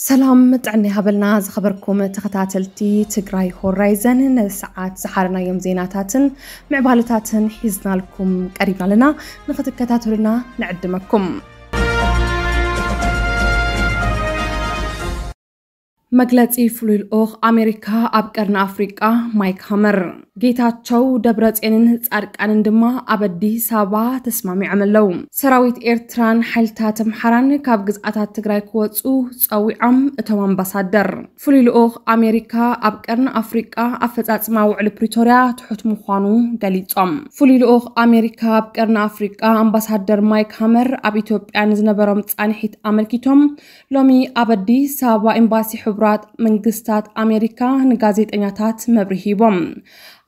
ሰላም ጥዕና ይሃበልና ዝኸበርኩም ተኸታተልቲ ትግራይ ሆራይዘን፣ ንሰዓት ዝሓረናዮም ዜናታትን ምዕባለታትን ሒዝናልኩም ቀሪብና ኣለና። ንኽትከታተሉና ንዕድመኩም። መግለጺ ፍሉይ ልኡኽ ኣሜሪካ ኣብ ቀርኒ ኣፍሪቃ ማይክ ሃመር። ጌታቸው፣ ደብረጽዮንን ጻድቃንን ድማ ኣብ ኣዲስ ኣበባ ተስማሚዖም ኣለዉ። ሰራዊት ኤርትራን ሓይልታት ኣምሓራን ካብ ግዝኣታት ትግራይ ክወጹ ጸዊዖም እቶም ኣምባሳደር። ፍሉይ ልኡኽ ኣሜሪካ ኣብ ቀርኒ ኣፍሪቃ ኣፈጻጽማ ውዕሊ ፕሪቶርያ ትሑት ምዃኑ ገሊጾም። ፍሉይ ልኡኽ ኣሜሪካ ኣብ ቀርኒ ኣፍሪቃ ኣምባሳደር ማይክ ሃመር ኣብ ኢትዮጵያ ንዝነበሮም ጻንሒት ኣመልኪቶም ሎሚ ኣብ ኣዲስ ኣበባ ኤምባሲ ሕቡራት መንግስታት ኣሜሪካ ንጋዜጠኛታት መብርሂ ሂቦም።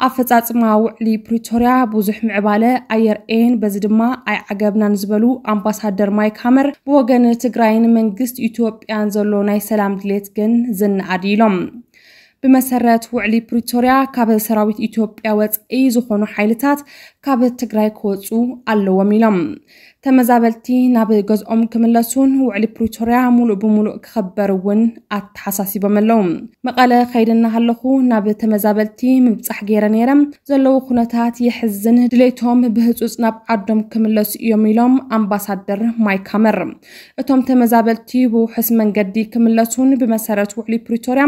ኣፈጻጽማ ውዕሊ ፕሪቶርያ ብዙሕ ምዕባለ ኣየርእየን፣ በዚ ድማ ኣይዓገብናን ዝበሉ ኣምባሳደር ማይክ ሃመር፣ ብወገን ትግራይን መንግስት ኢትዮጵያን ዘሎ ናይ ሰላም ድሌት ግን ዝነኣድ ኢሎም። ብመሰረት ውዕሊ ፕሪቶርያ ካብ ሰራዊት ኢትዮጵያ ወጻኢ ዝኾኑ ሓይልታት ካብ ትግራይ ክወጹ ኣለዎም ኢሎም። ተመዛበልቲ ናብ ገዝኦም ክምለሱን ውዕሊ ፕሪቶርያ ሙሉእ ብሙሉእ ክኸበር እውን ኣተሓሳሲቦም ኣለዉ። መቐለ ከይደ እናሃለኹ ናብ ተመዛበልቲ ምብጻሕ ገይረ ነይረ። ዘለዉ ኩነታት የሕዝን፣ ድሌቶም ብህጹጽ ናብ ዓዶም ክምለሱ እዮም ኢሎም ኣምባሳደር ማይክ ሃመር። እቶም ተመዛበልቲ ብውሑስ መንገዲ ክምለሱን ብመሰረት ውዕሊ ፕሪቶርያ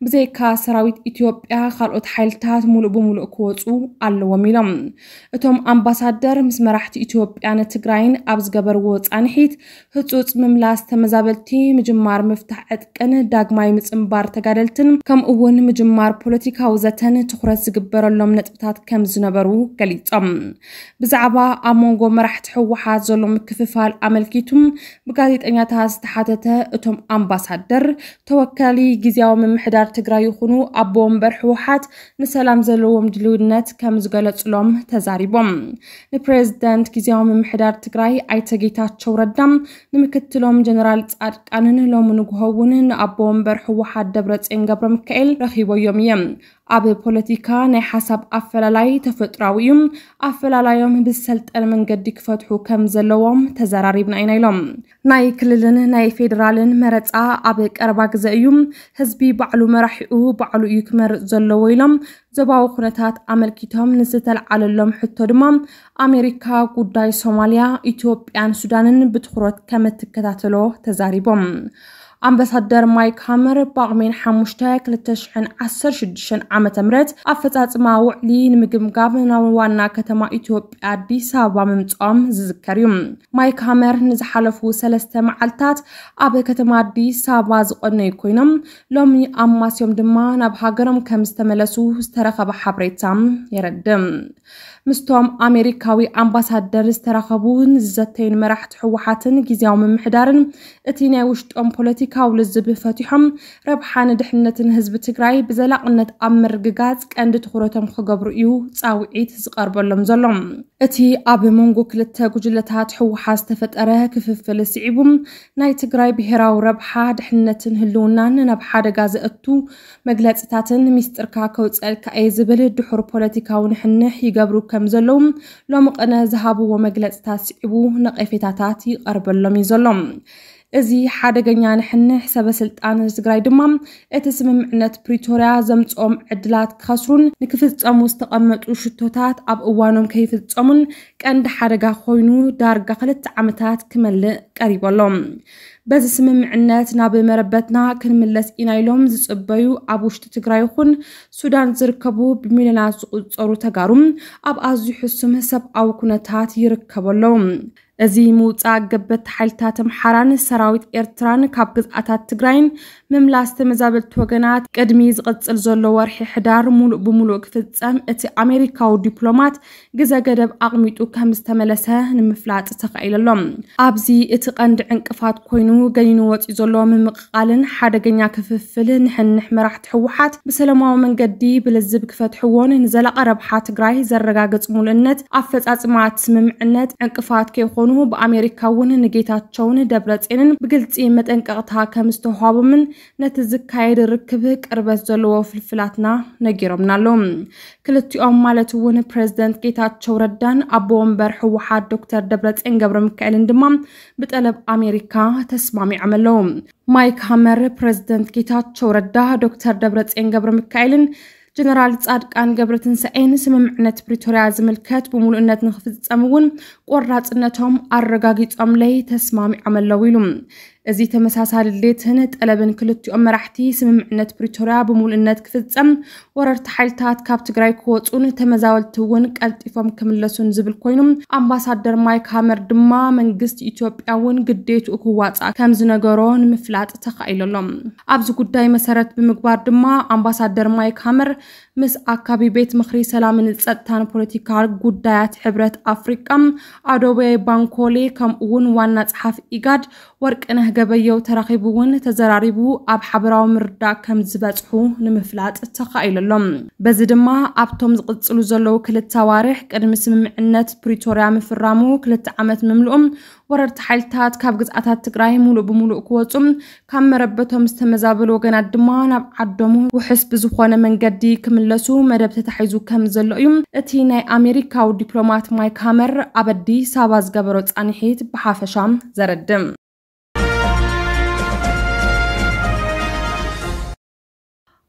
ብዘይካ ሰራዊት ኢትዮጵያ ካልኦት ሓይልታት ሙሉእ ብሙሉእ ክወጹ ኣለዎም ኢሎም። እቶም ኣምባሳደር ምስ መራሕቲ ኢትዮጵያን ትግራይን ኣብ ዝገበርዎ ጻንሒት፣ ህጹጽ ምምላስ ተመዛበልቲ፣ ምጅማር ምፍታሕ ዕጥቅን ዳግማይ ምጽንባር ተጋደልትን፣ ከምኡ እውን ምጅማር ፖለቲካዊ ዘተን ትኹረት ዝግበረሎም ነጥብታት ከም ዝነበሩ ገሊጾም። ብዛዕባ ኣብ መንጎ መራሕቲ ህወሓት ዘሎ ምክፍፋል ኣመልኪቱ ብጋዜጠኛታት ዝተሓተተ እቶም ኣምባሳደር፣ ተወካሊ ግዝያዊ ምምሕዳር ትግራይ ይኹኑ ኣቦ ወንበር ህወሓት ንሰላም ዘለዎም ድልውነት ከም ዝገለጹሎም ተዛሪቦም። ንፕሬዝዳንት ግዝያዊ ምምሕዳር ትግራይ ኣይተ ጌታቸው ረዳ፣ ንምክትሎም ጀነራል ጻድቃንን ሎሚ ንግሆ እውን ንኣቦ ወንበር ህወሓት ደብረጽዮን ገብረ ሚካኤል ረኺበዮም እየ። ኣብ ፖለቲካ ናይ ሓሳብ ኣፈላላይ ተፈጥራዊ እዩ። ኣፈላላዮም ብዝሰልጠነ መንገዲ ክፈትሑ ከም ዘለዎም ተዘራሪብና ኢና ኢሎም። ናይ ክልልን ናይ ፌዴራልን መረጻ ኣብ ቀረባ ግዘ እዩ። ህዝቢ ባዕሉ መራሒኡ ባዕሉ እዩ ክመርጽ ዘለዎ ኢሎም። ዞባዊ ኩነታት ኣመልኪቶም ንዝተለዓለሎም ሕቶ ድማ ኣሜሪካ ጉዳይ ሶማልያ፣ ኢትዮጵያን ሱዳንን ብትኹረት ከም እትከታተሎ ተዛሪቦም። ኣምባሳደር ማይክ ሃመር ብጳጉሜን ሓሙሽተ ክልተ ሽሕን ዓሰርተ ሽዱሽተን ዓመተ ምህረት ኣፈጻጽማ ውዕሊ ንምግምጋም ናብ ዋና ከተማ ኢትዮጵያ ኣዲስ ኣበባ ምምጽኦም ዝዝከር እዩ። ማይክ ሃመር ንዝሓለፉ ሰለስተ መዓልታት ኣብ ከተማ ኣዲስ ኣበባ ዝቆነዩ ኮይኖም፣ ሎሚ ኣማስዮም ድማ ናብ ሃገሮም ከም ዝተመለሱ ዝተረኸበ ሓበሬታ የረድእ። ምስቶም ኣሜሪካዊ ኣምባሳደር ዝተራኸቡ ንዝዘተዩን መራሕቲ ህወሓትን ግዝያዊ ምምሕዳርን እቲ ናይ ውሽጦም ፖለቲካዊ ልዝብ ፈቲሖም ረብሓን ድሕነትን ህዝቢ ትግራይ ብዘላቕነት ኣብ ምርግጋጽ ቀንዲ ትኹረቶም ክገብሩ እዩ ጻውዒት ዝቐርበሎም ዘሎ። እቲ ኣብ መንጎ ክልተ ጉጅለታት ህወሓት ዝተፈጠረ ክፍፍል ስዒቡ ናይ ትግራይ ብሄራዊ ረብሓ፣ ድሕነትን ህልውናን ናብ ሓደጋ ዘእቱ መግለጽታትን ሚስጥርካ ከውጸልካ እየ ዝብል ድሑር ፖለቲካዊ ንሕንሕ ይገብሩ ከም ዘለዉ ሎሚ ቅነ ዝሃብዎ መግለጽታት ስዒቡ ነቐፌታታት ይቐርበሎም እዩ ዘሎ። እዚ ሓደገኛ ንሕንሕ ሰበ ስልጣን ትግራይ ድማ እቲ ስምምዕነት ፕሪቶርያ ዘምጽኦም ዕድላት ክኸስሩን ንክፍጸሙ ዝተቐመጡ ሽቶታት ኣብ እዋኖም ከይፍጸሙን ቀንዲ ሓደጋ ኮይኑ ዳርጋ ክልተ ዓመታት ክመልእ ቀሪቡ ኣሎ። በዚ ስምምዕነት ናብ መረበትና ክንምለስ ኢና ኢሎም ዝጽበዩ ኣብ ውሽጢ ትግራይ ይኹን ሱዳን ዝርከቡ ብሚልዮናት ዝቑጸሩ ተጋሩ ኣብ ኣዝዩ ሕሱም ሰብኣዊ ኩነታት ይርከቡ ኣለዉ። እዚ ምውጻእ ገበቲ ሓይልታት ኣምሓራን ሰራዊት ኤርትራን ካብ ግዝኣታት ትግራይን ምምላስ ተመዛበልቲ ወገናት ቅድሚ ዝቕጽል ዘሎ ወርሒ ሕዳር ሙሉእ ብሙሉእ ክፍጸም እቲ ኣሜሪካዊ ዲፕሎማት ግዘ ገደብ ኣቕሚጡ ከም ዝተመለሰ ንምፍላጥ ተኻኢሉ ኣሎ። ኣብዚ እቲ ቀንዲ ዕንቅፋት ኮይኑ ገኒኑ ወጺኡ ዘሎ ምምቕቓልን ሓደገኛ ክፍፍል ንሕንሕ መራሕቲ ህወሓት ብሰላማዊ መንገዲ ብልዝብ ክፈትሕዎን ንዘላቒ ረብሓ ትግራይ ዘረጋግጽ ሙሉእነት ኣፈጻጽማ እቲ ስምምዕነት ዕንቅፋት ከይኾኑ ብኣሜሪካ እውን ንጌታቸውን ደብረጽዮንን ብግልጺ መጠንቀቕታ ከም ዝተዋህቦምን ነቲ ዝካየድ ርክብ ቅርበት ዘለዎ ፍልፍላትና ነጊሮምና ኣለዉ። ክልቲኦም ማለት እውን ፕሬዝደንት ጌታቸው ረዳን ኣቦ ወንበር ህወሓት ዶክተር ደብረጽዮን ገብረ ሚካኤልን ድማ ብጠለብ ኣሜሪካ ተስማሚዖም ኣለዉ። ማይክ ሃመር ፕሬዝደንት ጌታቸው ረዳ፣ ዶክተር ደብረጽዮን ገብረ ሚካኤልን ጀነራል ጻድቃን ገብረትንሳኤን ስምምዕነት ፕሪቶርያ ዝምልከት ብምሉእነት ንክፍጸም እውን ቆራጽነቶም ኣረጋጊጾምለይ ተስማሚዖም ኣለዉ ኢሉ። እዚ ተመሳሳሊ ድሌትን ጠለብን ክልቲኦም መራሕቲ፣ ስምምዕነት ፕሪቶርያ ብምሉእነት ክፍጸም፣ ወረርቲ ሓይልታት ካብ ትግራይ ክወፁን ተመዛበልቲ እውን ቀልጢፎም ክምለሱን ዝብል ኮይኑ፣ ኣምባሳደር ማይክ ሃመር ድማ መንግስቲ ኢትዮጵያ እውን ግዴትኡ ክዋፃእ ከም ዝነገሮ ንምፍላጥ ተኻኢሉ ኣሎ። ኣብዚ ጉዳይ መሰረት ብምግባር ድማ ኣምባሳደር ማይክ ሃመር ምስ ኣካቢ ቤት ምኽሪ ሰላምን ጸጥታን ፖለቲካል ጉዳያት ሕብረት ኣፍሪቃ ኣዶቤ ባንኮሌ ከምኡ እውን ዋና ጸሓፊ ኢጋድ ወርቅነህ ገበየው ተራኺቡ እውን ተዘራሪቡ ኣብ ሓበራዊ ምርዳእ ከም ዝበጽሑ ንምፍላጥ ተኻኢሉ ኣሎ። በዚ ድማ ኣብቶም ዝቕጽሉ ዘለዉ ክልተ ኣዋርሕ ቅድሚ ስምምዕነት ፕሪቶርያ ምፍራሙ ክልተ ዓመት ምምልኦም ወረርቲ ሓይልታት ካብ ግዝኣታት ትግራይ ሙሉእ ብሙሉእ ክወፁ ካብ መረበቶም ዝተመዛበሉ ወገናት ድማ ናብ ዓዶም ውሕስ ብዝኾነ መንገዲ ክምለሱ መደብ ተታሒዙ ከም ዘሎ እዩ እቲ ናይ ኣሜሪካዊ ዲፕሎማት ማይክ ሃመር ኣብ ኣዲስ ኣበባ ዝገበሮ ጻንሒት ብሓፈሻ ዘረድእ።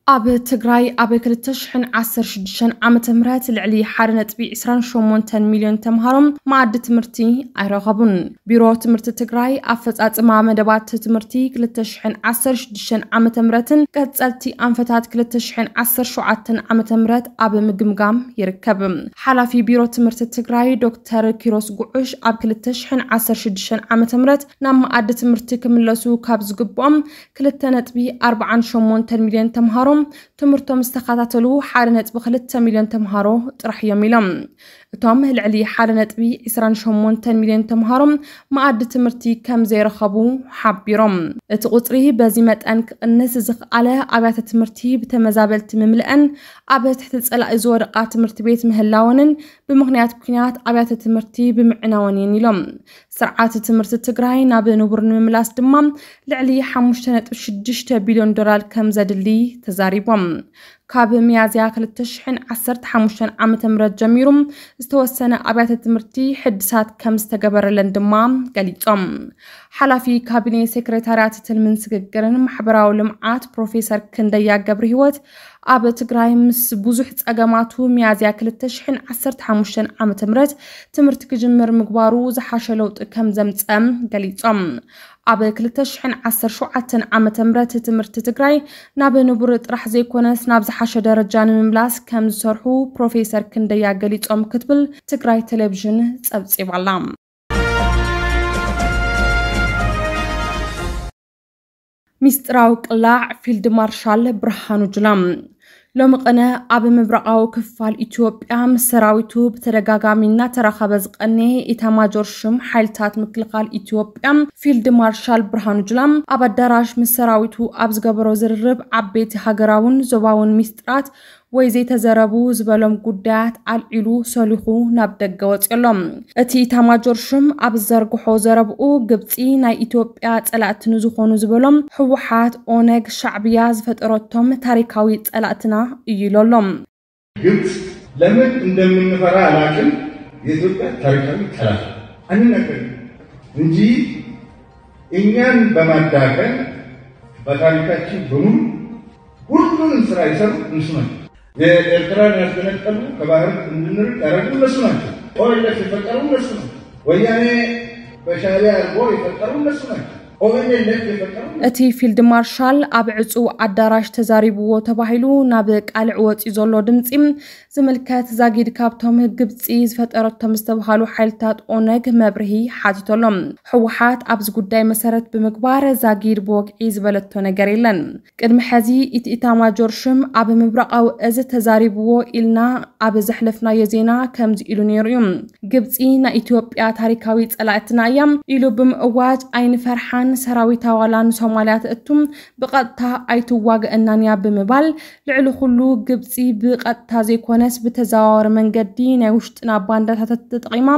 ኣብ ትግራይ ኣብ ክልተ ሽሕን ዓሰርተ ሽዱሽተን ዓመተ ምህረት ልዕሊ ሓደ ነጥቢ ዕስራን ሸሞንተን ሚልዮን ተምሃሮ መኣዲ ትምህርቲ ኣይረኸቡን። ቢሮ ትምህርቲ ትግራይ ኣፈጻጽማ መደባት ትምህርቲ ክልተ ሽሕን ዓሰርተ ሽዱሽተን ዓመተ ምህረትን ቀጸልቲ ኣንፈታት ክልተ ሽሕን ዓሰርተ ሸውዓተን ዓመተ ምህረት ኣብ ምግምጋም ይርከብ። ሓላፊ ቢሮ ትምህርቲ ትግራይ ዶክተር ኪሮስ ጉዑሽ ኣብ ክልተ ሽሕን ዓሰርተ ሽዱሽተን ዓመተ ምህረት ናብ መኣዲ ትምህርቲ ክምለሱ ካብ ዝግብኦም ክልተ ነጥቢ ኣርባዓን ሸሞንተን ሚልዮን ተምሃሮ ትምህርቶም ዝተኸታተሉ ሓደ ነጥቢ ክልተ ሚልዮን ተምሃሮ ጥራሕ እዮም ኢሎም። እቶም ልዕሊ ሓደ ነጥቢ ዕስራን ሸሞንተን ሚልዮን ተምሃሮ መኣዲ ትምህርቲ ከም ዘይረኸቡ ሓቢሮም። እቲ ቁጽሪ በዚ መጠን ክቕንስ ዝኸኣለ ኣብያተ ትምህርቲ ብተመዛበልቲ ምምልአን ኣብ ትሕቲ ጸላኢ ዝወደቓ ትምህርቲ ቤት ምህላወንን ብምኽንያት ኲናት ኣብያተ ትምህርቲ ብምዕናወን እየን ኢሎም። ስርዓት ትምህርቲ ትግራይ ናብ ንቡር ንምምላስ ድማ ልዕሊ ሓሙሽተ ነጥቢ ሽዱሽተ ቢልዮን ዶላር ከም ዘድሊ ተዛሪቦም። ካብ ሚያዝያ ክልተ ሽሕን ዓሰርተ ሓሙሽተን ዓመተ ምህረት ጀሚሩ ዝተወሰነ ኣብያተ ትምህርቲ ሕድሳት ከም ዝተገበረለን ድማ ገሊጾም። ሓላፊ ካቢኔ ሴክሬታርያት ትልምን ስግግርን ማሕበራዊ ልምዓት ፕሮፌሰር ክንደያ ገብረ ህይወት ኣብ ትግራይ ምስ ብዙሕ ጸገማቱ ሚያዝያ ክልተ ሽሕን ዓሰርተ ሓሙሽተን ዓመተ ምህረት ትምህርቲ ክጅምር ምግባሩ ዝሓሸ ለውጢ ከም ዘምጸ ገሊጾም። ኣብ ክልተ ሽሕን ዓሰርተ ሸውዓተን ዓመተ ምህረት ትምህርቲ ትግራይ ናብ ንቡር ጥራሕ ዘይኮነስ ናብ ዝሓሸ ደረጃ ንምምላስ ከም ዝሰርሑ ፕሮፌሰር ክንደያ ገሊጾም ክትብል ትግራይ ቴሌቪዥን ጸብጺባላ። ሚስጥራዊ ቅላዕ ፊልድ ማርሻል ብርሃኑ ጁላ። ሎሚ ቅነ ኣብ ምብራቓዊ ክፋል ኢትዮጵያ ምስ ሰራዊቱ ብተደጋጋሚ እናተራኸበ ዝቐነየ ኢታማጆር ሽም ሓይልታት ምክልኻል ኢትዮጵያ ፊልድ ማርሻል ብርሃኑ ጁላ ኣብ ኣዳራሽ ምስ ሰራዊቱ ኣብ ዝገበሮ ዝርርብ ዓበይቲ ሃገራውን ዞባውን ሚስጥራት ወይ ዘይተዘረቡ ዝበሎም ጉዳያት ኣልዒሉ ሰሊኹ ናብ ደገ ወፂኡ ኣሎ። እቲ ኢታማጆር ሽም ኣብ ዝዘርግሖ ዘረብኡ ግብፂ ናይ ኢትዮጵያ ፀላእቲ ንዝኾኑ ዝበሎም ህወሓት፣ ኦነግ፣ ሻዕብያ ዝፈጠረቶም ታሪካዊ ፀላእትና እዩ ኢሉ ኣሎ። ግብፅ ለምን እንደምንፈራ አላቅም። የኢትዮጵያ ታሪካዊ ጠላት አንነገርም እንጂ እኛን በማዳከም በታሪካችን በሙሉ ሁሉንም ስራ የሰሩ እነሱ ናቸው። የኤርትራን ያስገነጠሉ ከባህር እንድንርቅ ያደረጉ እነሱ ናቸው። ኦኤልኤፍ የፈጠሩ እነሱ ናቸው። ወያኔ በሻዕቢያ አድርጎ የፈጠሩ እነሱ ናቸው። ኦኤልኤፍ የፈጠሩ እቲ ፊልድ ማርሻል ኣብ ዕጹው ኣዳራሽ ተዛሪብዎ ተባሂሉ ናብ ቃልዕ ወጺኡ ዘሎ ድምጺ ዝምልከት ዛጊድ ካብቶም ግብጺ ዝፈጠረቶም ዝተባሃሉ ሓይልታት ኦነግ መብርሂ ሓቲቶሎም። ህወሓት ኣብዚ ጉዳይ መሰረት ብምግባር ዛጊድ ብወግዒ ዝበለቶ ነገር የለን። ቅድሚ ሕዚ እቲ ኢታማጆር ሽም ኣብ ምብራቓዊ እዝ ተዛሪብዎ ኢልና ኣብ ዘሕለፍናዮ ዜና ከምዚ ኢሉ ነይሩ እዩ። ግብጺ ናይ ኢትዮጵያ ታሪካዊ ጸላእትና እያ ኢሉ ብምእዋጅ ኣይንፈርሓን ሰራዊት ኣባላ ንሶማልያ ትእቱ፣ ብቐጥታ ኣይትዋገእናን እያ ብምባል፣ ልዕሊ ኩሉ ግብጺ ብቐጥታ ዘይኮነስ ብተዘዋዋሪ መንገዲ ናይ ውሽጥና ባንዳታት ተጠቒማ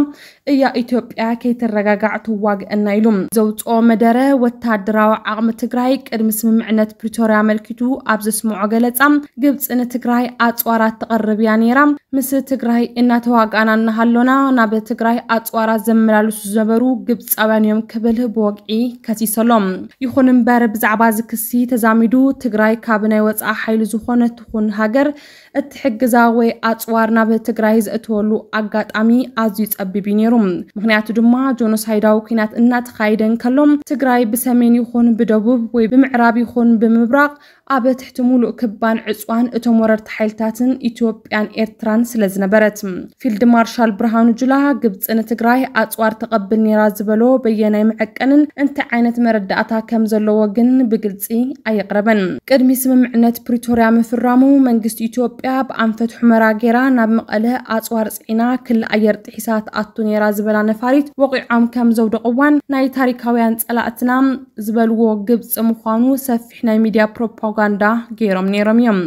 እያ ኢትዮጵያ ከይትረጋጋዕ ትዋግአና ኢሉ። ዘውፅኦ መደረ ወታደራዊ ዓቕሚ ትግራይ ቅድሚ ስምምዕነት ፕሪቶርያ ኣመልኪቱ ኣብ ዘስምዖ ገለፃ፣ ግብፂ ንትግራይ ኣፅዋራት ትቐርብ እያ ነይራ። ምስ ትግራይ እናተዋጋእና እናሃሎና ናብ ትግራይ ኣፅዋራት ዘመላልሱ ዝነበሩ ግብፃውያን እዮም ክብል ብወግዒ ከሲሰሎም። ይኹን እምበር ብዛዕባ እዚ ክሲ ተዛሚዱ ትግራይ ካብ ናይ ወፃኢ ሓይሊ ዝኾነ ትኹን ሃገር እትሕግዛ ወይ ኣፅዋር ናብ ትግራይ ዘእትወሉ ኣጋጣሚ ኣዝዩ ጸቢብ እዩ ነይሩ። ምኽንያቱ ድማ ጆኖሳይዳዊ ኲናት እናተኻየደ እንከሎ ትግራይ ብሰሜን ይኹን ብደቡብ ወይ ብምዕራብ ይኹን ብምብራቕ ኣብ ትሕቲ ሙሉእ ክባን ዕፅዋን እቶም ወረርቲ ሓይልታትን ኢትዮጵያን ኤርትራን ስለ ዝነበረት። ፊልድ ማርሻል ብርሃኑ ጁላ ግብፂ ንትግራይ ኣፅዋር ተቐብል ነይራ ዝበሎ በየናይ መዐቀንን እንታይ ዓይነት መረዳእታ ከም ዘለዎ ግን ብግልፂ ኣየቕረበን። ቅድሚ ስምምዕነት ፕሪቶርያ ምፍራሙ መንግስቲ ኢትዮጵያ ብኣንፈት ሑመራ ገይራ ናብ መቐለ ኣፅዋር ፅዒና ክሊ ኣየር ጥሒሳ ትኣቱ ነይራ ዝበላ ነፋሪት ወቒዖም ከም ዘውደቕዋን ናይ ታሪካውያን ፀላእትና ዝበልዎ ግብፂ ምዃኑ ሰፊሕ ናይ ሚድያ ፕሮፓጋንዳ ገይሮም ነይሮም እዮም።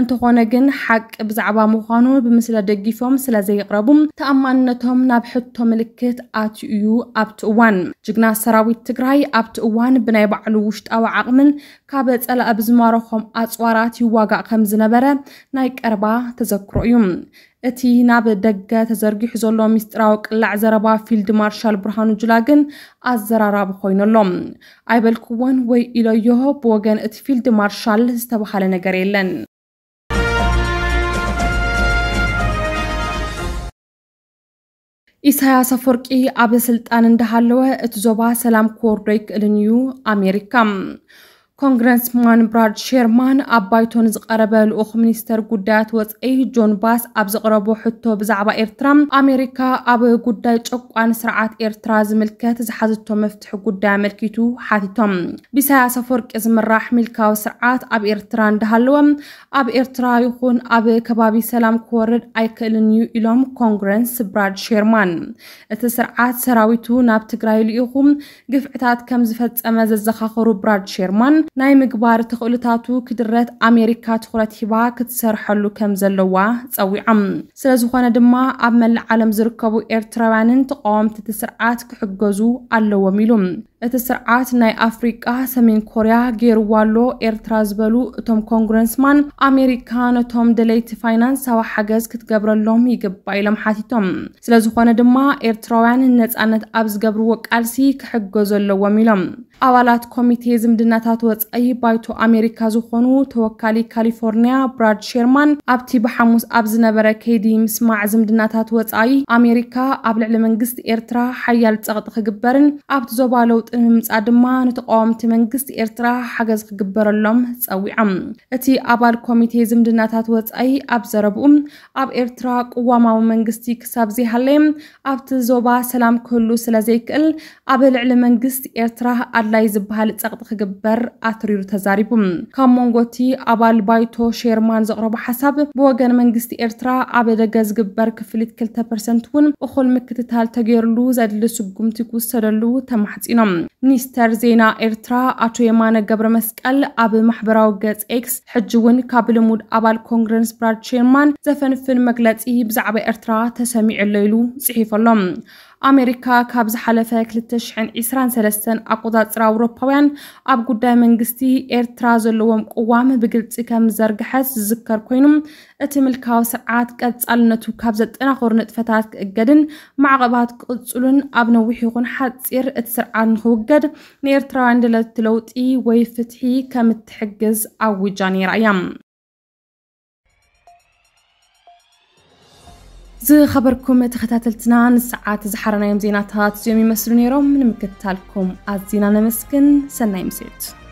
እንተኾነ ግን ሓቂ ብዛዕባ ምዃኑ ብምስለ ደጊፎም ስለ ዘየቕረቡ ተኣማንነቶም ናብ ሕቶ ምልክት ኣትዩ እዩ። ኣብቲ እዋን ጅግና ሰራዊት ትግራይ ኣብቲ እዋን ብናይ ባዕሉ ውሽጣዊ ዓቕምን ካብ ጸላኢ ብዝማረኾም ኣጽዋራት ይዋጋእ ከም ዝነበረ ናይ ቀረባ ተዘክሮ እዩ። እቲ ናብ ደገ ተዘርጊሑ ዘሎ ሚስጥራዊ ቅላዕ ዘረባ ፊልድ ማርሻል ብርሃኑ ጁላ ግን ኣዘራራቢ ኮይኑ ኣሎ። ኣይበልክዎን ወይ ኢለዮ፣ ብወገን እቲ ፊልድ ማርሻል ዝተባህለ ነገር የለን። ኢሳያስ ኣፈወርቂ ኣብ ስልጣን እንዳሃለወ እቲ ዞባ ሰላም ክወርዶ ኣይክእልን እዩ ኣሜሪካ። ኮንግረስማን ብራድ ሼርማን ኣብ ባይቶ ንዝቐረበ ልኡኽ ሚኒስተር ጉዳያት ወጻኢ ጆን ባስ ኣብ ዘቕረቦ ሕቶ ብዛዕባ ኤርትራ፣ ኣሜሪካ ኣብ ጉዳይ ጨቋኒ ስርዓት ኤርትራ ዝምልከት ዝሓዘቶ መፍትሒ ጉዳይ ኣመልኪቱ ሓቲቶም። ብኢሳያስ ኣፈወርቂ ዝምራሕ ምልካዊ ስርዓት ኣብ ኤርትራ እንዳሃለወ ኣብ ኤርትራ ይኹን ኣብ ከባቢ ሰላም ክወርድ ኣይክእልን እዩ ኢሎም ኮንግረስ ብራድ ሼርማን። እቲ ስርዓት ሰራዊቱ ናብ ትግራይ ልኢኹ ግፍዕታት ከም ዝፈጸመ ዘዘኻኸሩ ብራድ ሼርማን፣ ናይ ምግባር ተኽእሎታቱ ክድረት ኣሜሪካ ትኹረት ሂባ ክትሰርሐሉ ከም ዘለዋ ጸዊዖም። ስለ ዝኾነ ድማ ኣብ መላእ ዓለም ዝርከቡ ኤርትራውያንን ተቃወምቲ እቲ ስርዓት ክሕገዙ ኣለዎም ኢሉ። እቲ ስርዓት ናይ ኣፍሪቃ ሰሜን ኮርያ ገይርዋ ኣሎ ኤርትራ ዝበሉ እቶም ኮንግረስማን፣ ኣሜሪካ ነቶም ደለይቲ ፋይናንሳዊ ሓገዝ ክትገብረሎም ይግባእ ኢሎም ሓቲቶም። ስለ ዝኾነ ድማ ኤርትራውያን ንነጻነት ኣብ ዝገብርዎ ቃልሲ ክሕገዙ ኣለዎም ኢሎም። ኣባላት ኮሚቴ ዝምድናታት ወጻኢ ባይቶ ኣሜሪካ ዝኾኑ ተወካሊ ካሊፎርኒያ ብራድ ሼርማን ኣብቲ ብሓሙስ ኣብ ዝነበረ ከይዲ ምስማዕ ዝምድናታት ወጻኢ ኣሜሪካ ኣብ ልዕሊ መንግስቲ ኤርትራ ሓያል ጸቕጢ ክግበርን ኣብቲ ዞባ ለውጢ ንምምጻእ ድማ ንተቃወምቲ መንግስቲ ኤርትራ ሓገዝ ክግበረሎም ጸዊዖም። እቲ ኣባል ኮሚቴ ዝምድናታት ወጻኢ ኣብ ዘረብኡ ኣብ ኤርትራ ቅዋማዊ መንግስቲ ክሳብ ዘይሃለየ ኣብቲ ዞባ ሰላም ክህሉ ስለ ዘይክእል ኣብ ልዕሊ መንግስቲ ኤርትራ ኣድላይ ዝበሃል ጸቕጢ ክግበር ኣትሪሩ ተዛሪቡ። ካብ መንጎ እቲ ኣባል ባይቶ ሼርማን ዘቕረቦ ሓሳብ ብወገን መንግስቲ ኤርትራ ኣብ ደገ ዝግበር ክፍሊት ክልተ ፐርሰንት እውን እኹል ምክትታል ተገይርሉ ዘድሊ ስጉምቲ ክውሰደሉ ተማሕጺኖም። ሚኒስተር ዜና ኤርትራ ኣቶ የማነ ገብረ መስቀል ኣብ ማሕበራዊ ገጽ ኤክስ ሕጂ እውን ካብ ልሙድ ኣባል ኮንግረስ ብራድ ሼርማን ዘፈንፍን መግለጺ ብዛዕባ ኤርትራ ተሰሚዑ ኣሎ ኢሉ ጽሒፉ ኣሎ። ኣሜሪካ ካብ ዝሓለፈ ክልተ ሽሕን ዕስራን ሰለስተን ኣቆጻጽራ ኣውሮፓውያን ኣብ ጉዳይ መንግስቲ ኤርትራ ዘለዎም ቅዋም ብግልጺ ከም ዝዘርግሐት ዝዝከር ኮይኑ፣ እቲ ምልካዊ ስርዓት ቀጻልነቱ ካብ ዘጠናኽሩ ንጥፈታት ክእገድን ማዕቐባት ክቕጽሉን ኣብ ነዊሕ ይኹን ሓጺር እቲ ስርዓት ንኽውገድ ንኤርትራውያን ደለቲ ለውጢ ወይ ፍትሒ ከም እትሕግዝ ኣዊጃ ነይራ እያ። ዝኸበርኩም ተኸታተልትና ንሰዓት ዝሓረናዮም ዜናታት እዚኦም ይመስሉ ነይሮም። ንምክትታልኩም ኣዚና ነመስግን። ሰናይ ምሴት።